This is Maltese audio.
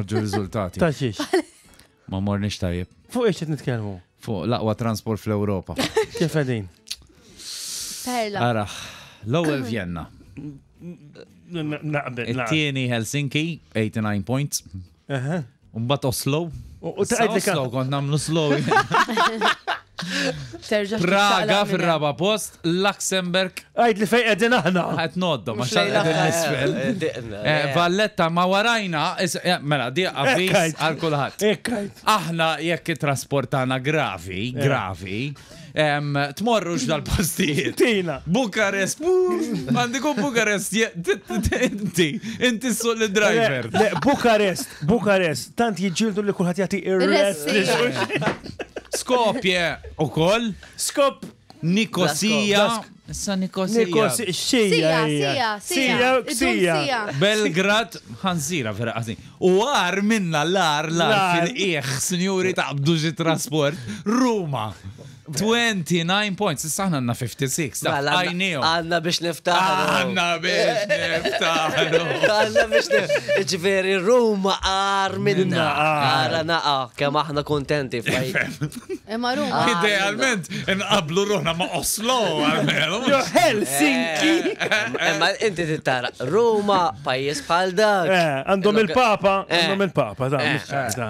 Ħarġu riżultati. Ta' xiex. Ma morniex tajjeb. Fuq ix qed nitkellmu? Fuq l-aqwa transport fl-Ewropa. Kif qegħdin? Perla. Ara, l-ewwel Vienna. Naqbel. It-tieni Helsinki, 89 points. Mbagħad Oslo. U tgħid li Oslo kont nagħmlu slow. Terġa' Praga fir-raba post, Luxemburg. Għid li fejn qegħdin aħna. Qed noddu ma xejn qegħdin l-isfel. Eh, Valletta ma warajna, eh, mela di avviż għal kulħadd. Aħna jekk it-trasport tagħna gravi, gravi, tmorrux dal-postijiet. Tina. Bukarest, għandiku Bukarest, inti, inti suq li driver. Le, Bukarest, Bukarest, tant jiġġieldu li kulħadd jagħti ir-rest. Skopje u koll. Skop. Nikosija. Issa Nikosija. Nikosija. Xija. Sija, sija, sija. Sija. Belgrad, ħanżira vera għazin. U għar minna l-ar, l-ar fil-iħ, sinjuri taqbdu xi trasport. Ruma. 29 points, issa aħna għandna 56. Taf, Mela, għajnijom. Għanna biex niftaħru. Għanna biex niftaħru. Għanna biex niftaħru. Ġifieri, Ruma għar minna. Għara naqa, kemm aħna kontenti. faj. Imma Ruma. Idealment, nqablu ruħna ma' Oslo, għalmenu. Jo Helsinki. Imma inti tittara, Ruma, pajjiż bħal dak. Eh, Għandhom il-papa, Eh. għandhom il-papa, da, mhux ċerta.